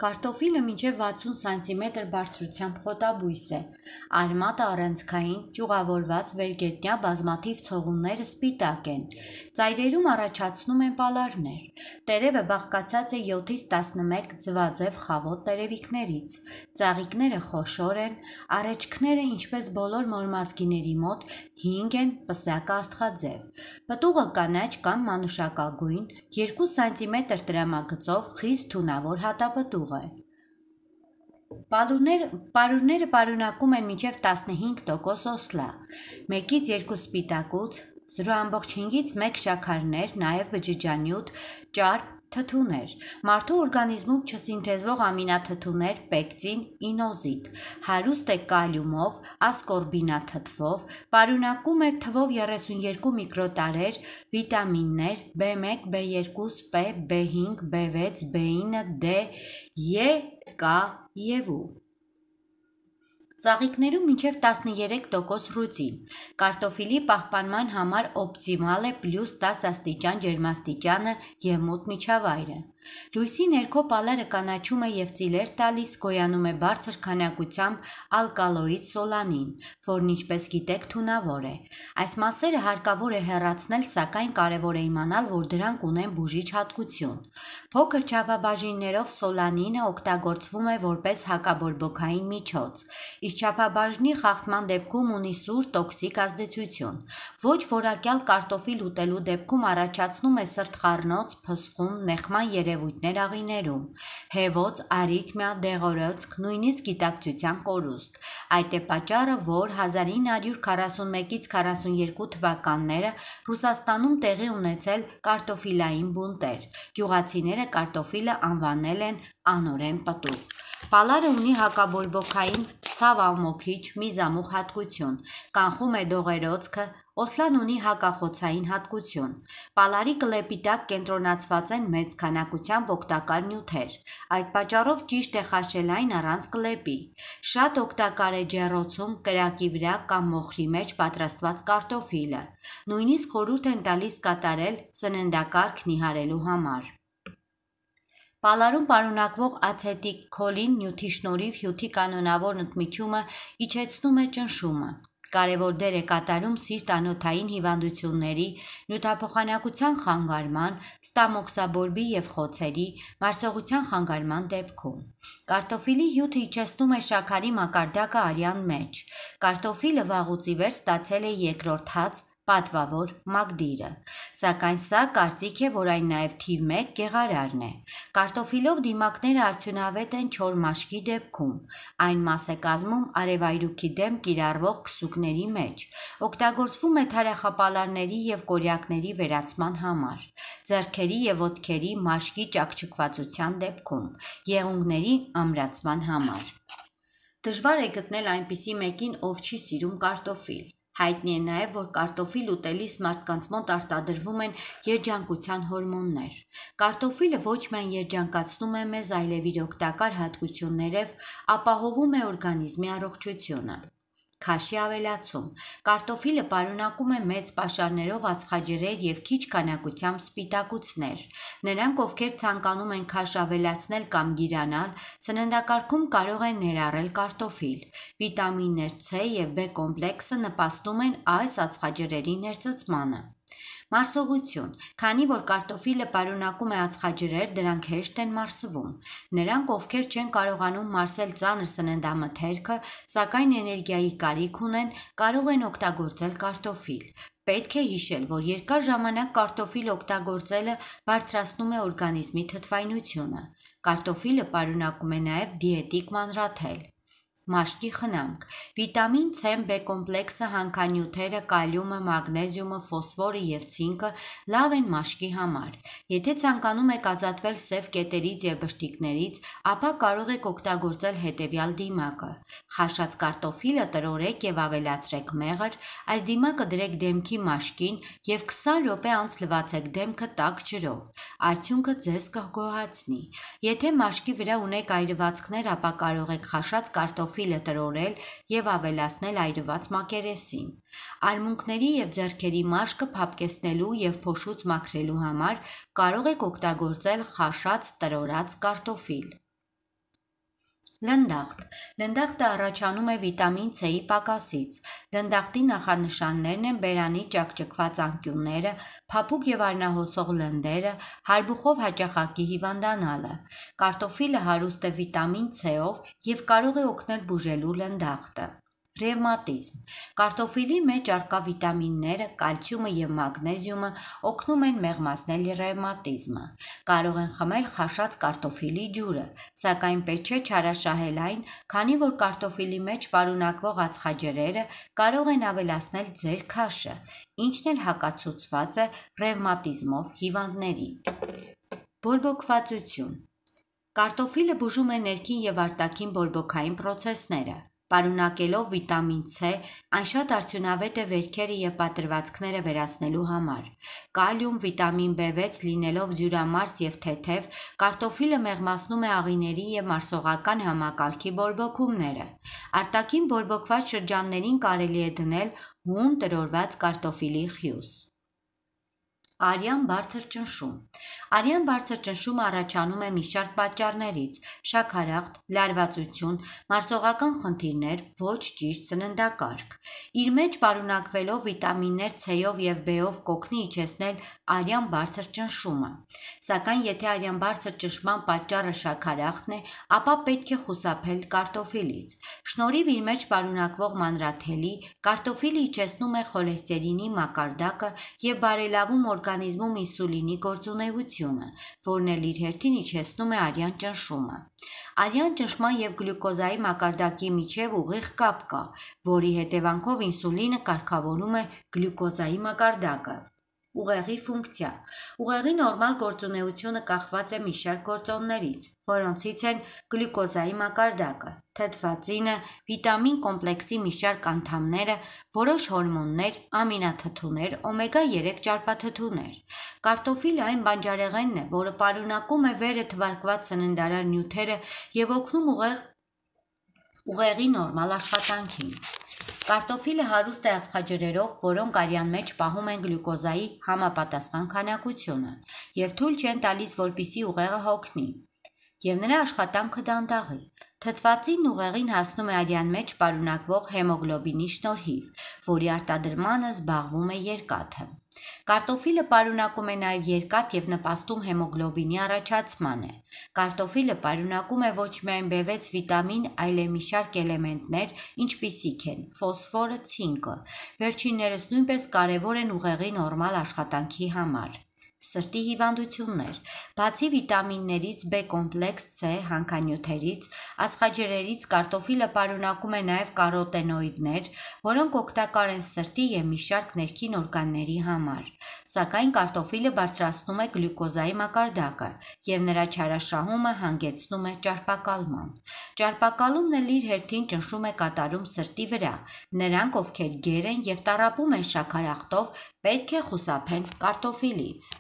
Կարտոֆիլը մինչև 60 սանտիմետր բարձրությամբ խոտաբույս է, արմատը առանցքային, ճյուղավորված վերգետնյա բազմաթիվ ցողունները սպիտակ են, ծայրերում առաջացնում են պալարներ, տերևը բաղկացած է 7-ից 11 ձվաձև խավոտ տերևիկներից, ծաղիկները խոշոր են, առէջքները ինչպես բոլոր մորմազգիների մոտ 5 են, պսակը աստղաձև, պտուղը կանաչ կամ մանուշակագույն, 2 սանտիմետր տրամագծով խիստ թունավոր հատապտուղ է։ Պարուրները պարունակում են մինչև 15% օսլա, 1-ից 2 սպիտակուց, 0,5-ից 1 շաքարներ, նաև բջջանյութ, ճարպ, թթուներ, մարդու օրգանիզմում չսինթեզվող ամինաթթուներ, պեկտին, ինոզիտ, հարուստ է կալիումով, ասկորբինաթթվով, պարունակում է թվով 32 միկրոտարեր, վիտամիններ, B1, B2, P, B5, B6, B9, D, E, K և U։ Ծաղիկներում մինչև 13% ռուտին, կարտոֆիլի պահպանման համար օպտիմալ է +10 աստիճան ջերմաստիճանը և մութ միջավայրը։ Լույսի ներքո պալարը կանաչում է և ծիլեր տալիս, գոյանում է բարձր քանակությամբ ալկալոիդ սոլանին, որն ինչպես գիտեք թունավոր է։ Այս մասերը հարկավոր է հեռացնել, սակայն կարևոր է իմանալ, որ դրանք ունեն բուժիչ հատկություն։ Փոքր չափաբաժիններով սոլանինը օգտագործվում է որպես հակաբորբոքային միջոց, իսկ չափաբաժնի խախտման դեպքում ունի սուր տոքսիկ ազդեցություն։ Ոչ որակյալ կարտոֆիլ ուտելու դեպքում առաջացնում է սրտխառնոց, փսխում, նեղման երևույթներ աղիներում, հեվոց, արիթմիա, դեղորոցք, նույնիսկ գիտակցության կորուստ։ Այդ է պատճառը, որ 1941-ից 42 թվականները Ռուսաստանում տեղի ունեցել կարտոֆիլային բունտեր։ Գյուղացիները կարտոֆիլը անվանել են անօրեն պտուղ։ Պալարը ունի հակաբորբոքային, ցավամոքիչ, միզամուղ հատկություն, կանխում է դողերոցքը, օսլան ունի հակախոցային հատկություն։ Պալարի կլեպի տակ կենտրոնացված են մեծ քանակությամբ օգտակար նյութեր։ Այդ պատճառով ճիշտ է խաշել այն առանց կլեպի։ Շատ օգտակար է ջեռոցում, կրակի վրա կամ մոխրի մեջ պատրաստված կարտոֆիլը։ Նույնիսկ խորհուրդ են տալիս կատարել սննդակարգ նիհարելու համար։ Պալարում պարունակվող ացետիլքոլին նյութի շնորհիվ հյութի կանոնավոր ընդմիջումը իջեցնում է ճնշումը։ Կարևոր դեր է կատարում սիրտ-անոթային հիվանդությունների, նյութափոխանակության խանգարման, ստամոքսաբորբի և խոցերի, մարսողության խանգարման դեպքում։ Կարտոֆիլի հյութը իջեցնում է շաքարի մակարդակը արյան մեջ։ Կարտոֆիլը վաղուց ի վեր ստացել է երկրորդ հաց, պատվավոր մակդիրը։ Սակայն սա կարծիք է, որ այն նաև թիվ 1 գեղարարն է։ Կարտոֆիլով դիմակները արդյունավետ են չոր մաշկի դեպքում։ Այն մաս է կազմում արևայրուքի դեմ կիրառվող քսուկների մեջ։ Օգտագործվում է թարախապալարների և կորյակների վերացման համար, ձեռքերի և ոտքերի մաշկի ճաքճքվածության դեպքում, եղունգների ամրացման համար։ Դժվար է գտնել այնպիսի մեկին, ով չի սիրում կարտոֆիլ։ Հայտնի է նաև, որ կարտոֆիլ ուտելիս մարդկանց մոտ արտադրվում են երջանկության հորմոններ։ Կարտոֆիլը ոչ միայն երջանկացնում է մեզ, այլև իր օգտակար հատկություններով ապահովում է օրգանիզմի առողջությունը։ Քաշի ավելացում։ Կարտոֆիլը պարունակում է մեծ պաշարներով ածխաջրեր և քիչ քանակությամբ սպիտակուցներ։ Նրանք, ովքեր ցանկանում են քաշ ավելացնել կամ գիրանալ, սննդակարգում կարող են ներառել կարտոֆիլ։ Վիտամիններ C և B կոմպլեքսը նպաստում են այս ածխաջրերի ներծծմանը։ Մարսողություն։ Քանի որ կարտոֆիլը պարունակում է ածխաջրեր, դրանք հեշտ են մարսվում։ Նրանք, ովքեր չեն կարողանում մարսել ծանր սննդամթերքը, սակայն էներգիայի կարիք ունեն, կարող են օգտագործել կարտոֆիլ։ Պետք է հիշել, որ երկար ժամանակ կարտոֆիլ օգտագործելը բարձրացնում է օրգանիզմի թթվայնությունը։ Կարտոֆիլը պարունակում է նաև դիետիկ մանրաթել։ Մաշկի խնամք։ Վիտամին C, B կոմպլեքսը, հանքանյութերը, կալիումը, մագնեզիումը, ֆոսֆորը և ցինկը լավ են մաշկի համար։ Եթե ցանկանում եք ազատվել սև կետերից և բշտիկներից, ապա կարող եք օգտագործել հետևյալ դիմակը։ Խաշած կարտոֆիլը տրորեք և ավելացրեք մեղր, այս դիմակը դրեք դեմքի մաշկին և 20 րոպե անց լվացեք դեմքը տաք ջրով։ Արդյունքը ձեզ կգոհացնի։ Եթե մաշկի վրա ունեք այրվածքներ, ապա կարող եք խաշած կարտոֆիլը տրորել և ավելացնել այրված մակերեսին։ Արմունկների և ձեռքերի մաշկը փափկեցնելու և փոշուց մաքրելու համար կարող եք օգտագործել խաշած տրորած կարտոֆիլ։ Լնդախտ։ Լնդախտը առաջանում է վիտամին C-ի պակասից։ Լնդախտի նախանշաններն են բերանի ճաքճքված անկյունները, փափուկ եւ արնահոսող լնդերը, հարբուխով հաճախակի հիվանդանալը։ Կարտոֆիլը հարուստ է վիտամին C-ով եւ կարող է օգնել բուժելու լնդախտը։ Ռևմատիզմ։ Կարտոֆիլի մեջ առկա վիտամինները, կալցիումը եւ մագնեզիումը օգնում են մեղմացնել ռևմատիզմը։ Կարող են խմել խաշած կարտոֆիլի ջուրը, սակայն պետք չէ չարաշահել այն, քանի որ կարտոֆիլի մեջ պարունակվող ածխաջրերը կարող են ավելացնել ձեր քաշը, ինչն էլ հակացուցված է ռևմատիզմով հիվանդների։ Բորբոքվածություն։ Կարտոֆիլը բուժում է ներքին եւ արտաքին բորբոքային պրոցեսները։ Պարունակելով վիտամին C, այն շատ արդյունավետ է վերքերը եւ պատրվածքները վերացնելու համար։ Կալիում, վիտամին B6 լինելով ջուրամարս եւ թեթև, կարտոֆիլը մեղմացնում է աղիների եւ մարսողական համակարգի բորբոքումները։ Արտաքին բորբոքված շրջաններին կարելի է դնել հուն տրորված կարտոֆիլի խյուս։ Արյան բարձր ճնշում։ Արյան բարձր ճնշումը առաջանում է մի շարք պատճառներից՝ շաքարախտ, լարվածություն, մարսողական խնդիրներ, ոչ ճիշտ սննդակարգ։ Իր մեջ պարունակվելով վիտամիններ C-ով եւ B-ով կօգնի իջեցնել արյան բարձր ճնշումը։ Սակայն եթե արյան բարձր ճնշման պատճառը շաքարախտն է, ապա պետք է խուսափել կարտոֆիլից։ Շնորհիվ իր մեջ պարունակվող մանրաթելի, կարտոֆիլը իջեցնում է խոլեստերինի մակարդակը եւ բարելավում օրգանիզմում ինսուլինի գործունեությունը, որն էլ իր հերթին իջեցնում է արյան ճնշումը։ Արյան ճնշման եւ գլյուկոզայի մակարդակի միջև ուղիղ կապ կա, որի հետևանքով ինսուլինը կարգավորում է գլյուկոզայի մակարդակը։ Ուղեղի ֆունկցիա։ Ուղեղի նորմալ գործունեությունը կախված է մի շարք գործոններից, որոնցից են գլյուկոզայի մակարդակը, թթվածինը, վիտամին կոմպլեքսի մի շարք անդամները, որոշ հորմոններ, ամինաթթուներ, օմեգա-3 ճարպաթթուներ։ Կարտոֆիլը այն բանջարեղենն է, որը պարունակում է վերը թվարկված սննդարար նյութերը եւ օգնում ուղեղի նորմալ աշխատանքին։ Կարտոֆիլը հարուստ է ածխաջրերով, որոնք արյան մեջ պահում են գլյուկոզայի համապատասխան քանակությունը եւ թույլ չեն տալիս, որպիսի ուղեղը հոգնի եւ նրա աշխատանքը դանդաղի։ Թթվածինն ուղեղին հասնում է արյան մեջ պարունակվող հեմոգլոբինի շնորհիվ, որի արտադրմանը զբաղվում է երկաթը։ Կարտոֆիլը պարունակում է նաև երկաթ եւ նպաստում հեմոգլոբինի առաջացմանը։ Կարտոֆիլը պարունակում է ոչ միայն B6 վիտամին, այլ մի շարք էլեմենտներ, ինչպիսիք են ֆոսֆորը, ցինկը։ Վերջիններս նույնպես կարևոր են ուղեղի նորմալ աշխատանքի համար։ Սրտի հիվանդություններ։ Բացի վիտամիններից B կոմպլեքս C, հանքանյութերից, ածխաջրերից կարտոֆիլը պարունակում է նաև կարոտենոիդներ, որոնք օգտակար են սրտի եւ մի շարք ներքին օրգանների համար։ Սակայն կարտոֆիլը բարձրացնում է գլյուկոզայի մակարդակը եւ նրա չարաշահումը հանգեցնում է ճարպակալման։ Ճարպակալումն էլ իր հերթին ճնշում է կատարում սրտի վրա։ Նրանք, ովքեր գեր են եւ տառապում են շաքարախտով, պետք է խուսափեն կարտոֆիլից։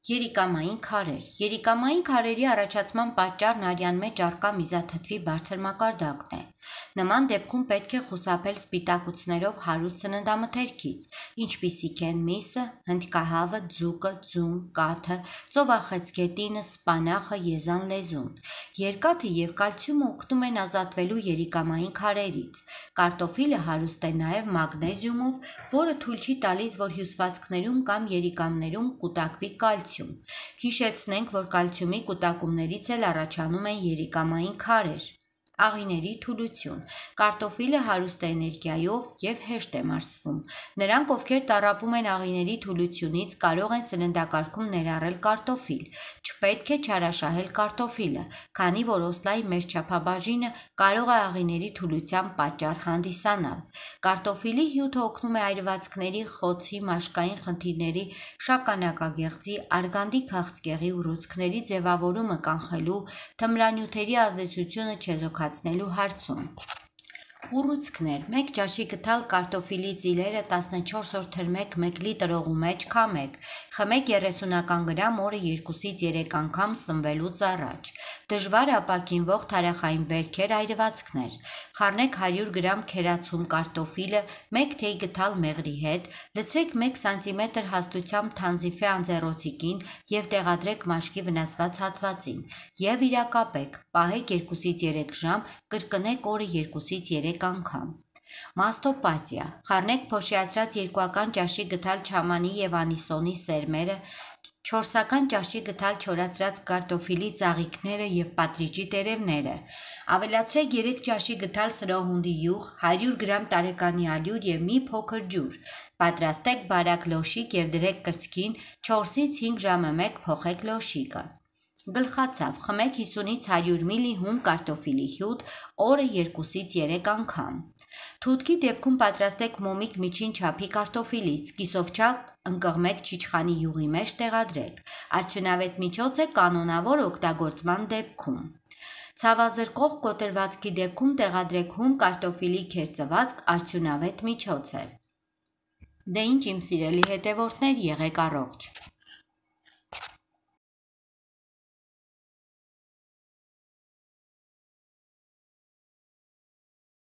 Երիկամային քարեր։ Երիկամային քարերի առաջացման պատճառն արյան մեջ առկա միզաթթվի բարձր մակարդակն է։ Նման դեպքում պետք է խուսափել սպիտակուցներով հարուստ սննդամթերքից, ինչպիսիք են միսը, հնդկահավը, ձուկը, ձուն, կաթը, ծովախեցգետինը, սպանախը, եզան լեզուն։ Երկաթը եւ կալցիումը օգնում են ազատվելու երիկամային քարերից։ Կարտոֆիլը հարուստ է նաեւ մագնեզիումով, որը թույլ չի տալիս, որ հյուսվածքներում կամ երիկամներում կուտակվի կալցիում։ Հիշեցնենք, որ կալցիումի կուտակումներից էլ առաջանում են երիկամային քարեր։ Աղիների թուլություն։ Կարտոֆիլը հարուստ է էներգիայով եւ հեշտ է մարսվում։ Նրանք, ովքեր տառապում են աղիների թուլությունից, կարող են սննդակարգում ներառել կարտոֆիլ։ Չպետք է չարաշահել կարտոֆիլը, քանի որ օսլայի մեծ չափաբաժինը կարող է աղիների թուլության պատճառ հանդիսանալ։ Կարտոֆիլի հյութը օգնում է այրվածքների, խոցի, մաշկային խնդիրների, շագանակագեղձի, արգանդի քաղցկեղի ուռուցքների ձևավորումը կանխելու, թմրանյութերի ազդեցությունը չեզոքացնելու հարցում։ Ուռուցքներ 1 ճաշի գթալ կարտոֆիլի ծիլերը 14 օր թրմեք 1 լիտր օղու մեջ քամեք, խմեք 30 գրամ օրը 2-ից 3 անգամ սնվելուց առաջ, դժվար ապակինվող թարախային վերքեր այրվածքներ, խառնեք 100 գրամ քերացում կարտոֆիլը 1 թեյ գթալ մեղրի հետ, լցրեք 1 սանտիմետր հաստությամբ թանզիֆե անձեռոցիկին և տեղադրեք մաշկի վնասված հատվածին և վիրակապեք, պահեք 2-ից 3 ժամ, կրկնեք օրը 2-ից 3 անգամ։ Մաստոպաթիա խառնեք փոշիացրած 2 ճաշի գթալ չամանի և անիսոնի սերմերը, 4 ճաշի գթալ չորացրած կարտոֆիլի ծաղիկները և պատրիճի տերևները, ավելացրեք 3 ճաշի գթալ սրոհունդի յուղ, 100 գրամ տարեկանի ալյուր և մի փոքր ջուր, պատրաստեք բարակ լոշիկ և դրեք կրծքին, 4-ից 5 ժամը մեկ փոխեք լոշիկը։ Գլխացավ խմեք 50-ից 100 մլ հում կարտոֆիլի հյութ, օրը 2-ից 3 անգամ։ Թութքի դեպքում պատրաստեք մոմիկ միջին չափի կարտոֆիլից, կիսովչափ ընկղմեք չիչխանի յուղի մեջ տեղադրեք։ Արդյունավետ միջոց է կանոնավոր օգտագործման դեպքում։ Ցավազրկող կոտրվածքի դեպքում տեղադրեք հում կարտոֆիլի քերծվածք, արդյունավետ միջոց է։ Դե ինչ իմ սիրելի հետևորդներ, եղեք առողջ։